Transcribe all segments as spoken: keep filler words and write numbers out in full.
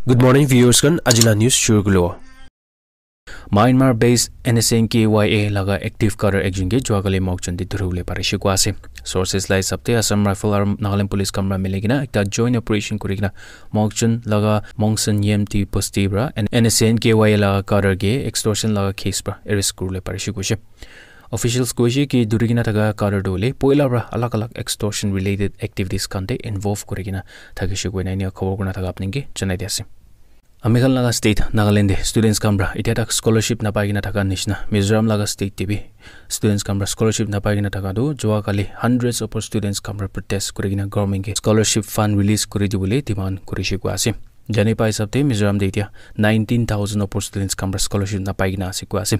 Good morning, viewers khan. Aji la news shuru kuribo. Myanmar based N S N K Y A laga active cadre ekjon ke juakali Mokokchung te dhuribole parishe koa ase. Sources la hisab te Assam Rifle aru Nagaland Police khan para mili kena ekta joint operation kuri kena Mokokchung laga Mongsen Yem Tea Bosti para N S N K Y A laga cadre ke extortion laga case para arrest kuribole parishe koishe. Officials koishe ki dhuri kena thaka cadre tu hoile poila para alag alag extortion related activities khan te involve kuri kena thakishe koina enia khobor kurina thaka apni ke janai di ase. Ami khan laga state Nagaland te students khan para itya tak scholarship napai kena thaka nishina Mizoram laga state te bi students khan para scholarship napai kena thaka tu jua kali hundreds of students khan para protest kuri kena government ke scholarship fund release kuri dibole demand kurishe koa ase. Jani pai hisab te Mizoram te itya nineteen thousand opor students khan para scholarship napai kena ase koa ase.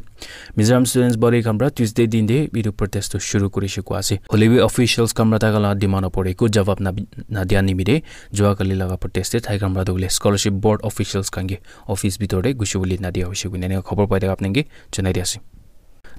Mizoram students body khan para Tuesday din te etu protest tu shuru kurishe koa ase. Hoile bi officials khan para tai khan la demand opor eku jawab na, na dia nimite jua kali laga protest te tai khan para tu bole scholarship board officials khan ke office bitor te gushi bole na dia hoise koina enia khobor pai thaka apni ke janai di ase.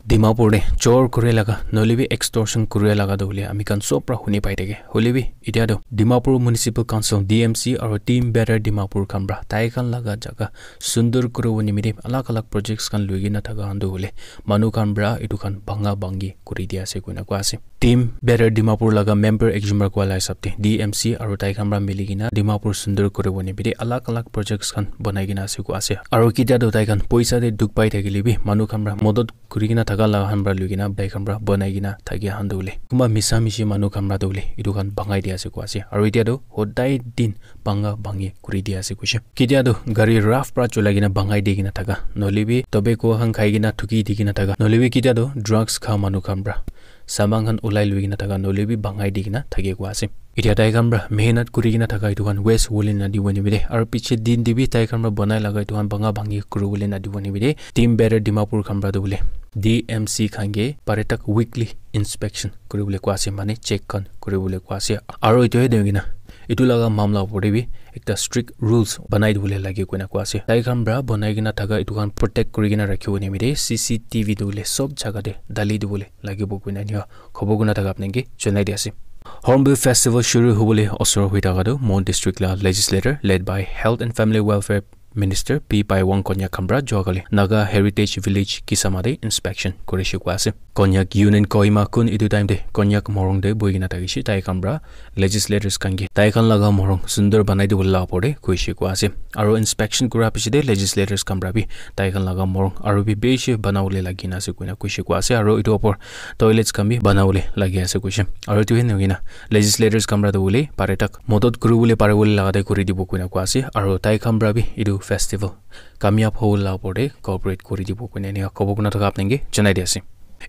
Dimapur te chor kure laga noile bi extortion kure laga tu bole ami khan sob para huni pai thake. Hoile bi itya tu Dimapur Municipal Council, D M C, aru Team Better Dimapur khan para tai khan laga jaga sundur kuribo nimite alag alag projects khan lui kena thaka khan tu hoile manu khan para etu khan bhanga bhangi kuri dia ase koina koa ase. Team Better Dimapur laga member ekjon para koa la hisab te D M C aru tai khan para mili kena Dimapur sundur kuribo nimite alag alag projects khan banai kena ase koa ase. Aru kitya tu tai khan poisa te dukh pai thakile bi manu khan para modot kuri kena thaka laga khan para lui kena tai khan para banai kena thaki khan tu hoile kunba misa mishi manu khan para tu hoile etu khan bhangai dia ase koa ase. Aru itya tu hodai din bhanga bhangi kuri dia ase koishe. Kitya tu gari rough para cholai kena bhangai di kena thaka noile bi tobacco khan khai kena thuki di kena thaka noile bi kitya tu drugs kha manu khan para saman khan ulai lui kena thaka noile bi bhangai di kena thake koa ase. Itya tai khan para mehnat kuri kena thaka etu khan waste hobole na dibo nimite aru piche din te bi tai khan para banai laga etu khan bhanga bhangi kuribole na dibo nimite Team Better Dimapur khan para tu bole D M C khan ke pare tak weekly inspection kuribole koa ase mane check khan kuribole koa ase. Aru etu he doi kena etu laga mamla opor te bi ekta strict rules banai dibole lage koina koa ase. Tai khan para banai kena thaka etu khan protect kuri kena rakhibo nimite C C T V tu bole sob jaga te dali dibole lagibo koina enia khobor kurina thaka apni ke janai di ase. Hornbill Festival shuru hobole osor hoi thaka tu Mon District la legislator led by Health and Family Welfare Minister P Paiwang Konyak khan para jua kali Naga Heritage Village Kisama te inspection kurishe koa ase. Konyak Union Kohima kun etu time te Konyak morung te bohi kena thakishe tai khan para legislators khan ke tai khan laga morung sundur banai dibole la opor te koishe koa ase. Aru inspection kura piche te legislators khan para bi tai khan laga morung aru bi bishi banabole lagi na ase koina koishe koa ase. Aru etu opor toilets khan bi banabole lagi ase koishe. Aru etu he nahoi kena legislators khan para tu bole pare tak modot kuribole paribole laga te kuri dibo koina koa ase. Aru tai khan para bi etu festival kamyab hobole la opor te cooperate kuri dibo koina enia khobor kurina thaka apni ke janai di ase.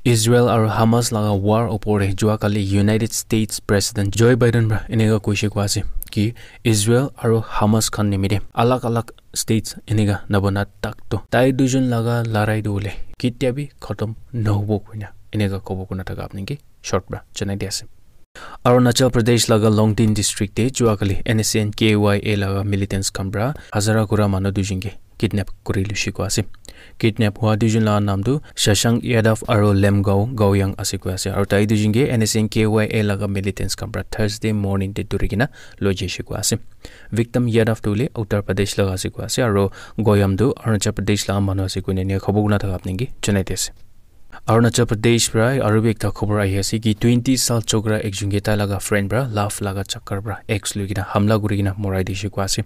Israel aru Hamas laga war opor te jua kali United States President Joe Biden para eneka koishe koa ase ki Israel aru Hamas khan nimite alag alag states eneka nabana tak to tai duijon laga larai tu bole kitya bi khatam nahobo koina eneka khobor kurina thaka apni ke short para janai di ase. Arunachal Pradesh laga Longding district te jua kali N S N K Y A laga militants khan para hazara kura manu duijon ke kidnap kuri lushi koa ase. Kidnap hua duijon laga naam tu Shashank Yadav aru Lemgao Gaoyang ase koa ase. Aru tai duijon ke N S N K Y A laga militants khan para Thursday morning te dhuri kena loi jaishe koa ase. Victim Yadav tu hoile Uttar Pradesh laga ase koa ase aru Gaoyang tu Arunachal Pradesh laga manu ase koina enia khobor kurina thaka apni ke janai di ase. Arunachal Pradesh para aru bi ekta khobor ahi ase ki twenty saal chokra ekjon ke tai laga friend para love laga chakar para ex loi kena hamla kuri kena morai dishe koa ase.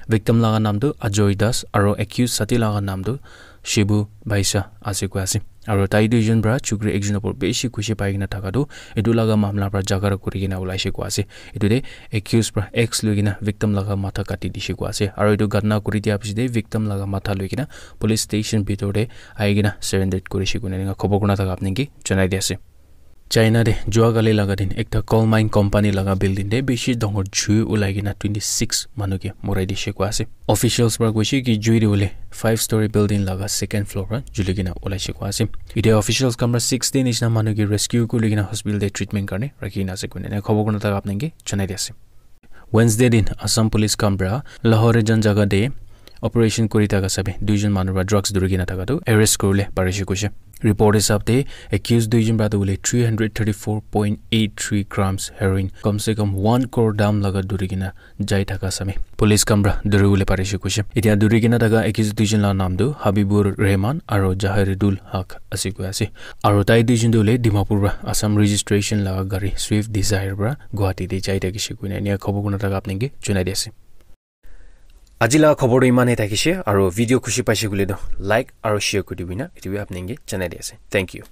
Victim laga naam tu Ajoy Das aru accused sati laga naam tu Shibu Baisa ase koa ase. Aru tai duijon para chukri ekjon opor bishi khushi pai kena thaka tu etu laga mamla para jhagra kuri kena ulaishe koa ase. Etu te accused para ex loi kena victim laga matha kati dishe koa ase. Aru etu ghatna kuri dia piche te victim laga matha loi kena police station bitor te ahi kena surrender kurishe koina eneka khobor kurina thaka apni ke janai di ase. China te jua kali laga din ekta coal mine company laga building te bishi dangor jui ulai kena twenty six manu ke morai dishe koa ase. Officials para koishe ki jui tu hoile five story building laga second floor para juli kena ulaishe koa ase. Itya officials khan para sixty nishina manu ke rescue kuri kena hospital te treatment karne rakhi kena ase koina eneka khobor kurina thaka apni ke janai di ase. Wednesday din Assam Police khan para Lahorijan jaga te operation kuri thaka sabi duijon manu para drugs duri kena thaka tu arrest kuribole parishe koishe. Report hisab te accused duijon para tu hoile three hundred thirty-four point eight three grams heroin, kam se kam one crore dam laga duri kena jai thaka sami police khan para duri bole parishe koishe. Etia duri kena thaka accused duijon la naam tu Habibur Rehman aro Jahiridul Haq ase koi ase. Aro tai duijon tu hoile Dimapur para Assam registration laga gari Swift Dzire para Guwahati te jai thakishe koina enia khobor kuna thaka apni ke junai di ase. Aji laga khobor tu iman he thakishe, aro video khushi paishe koile tu like aro share kuri dibi na, etu bi apni ke janai di ase. Thank you.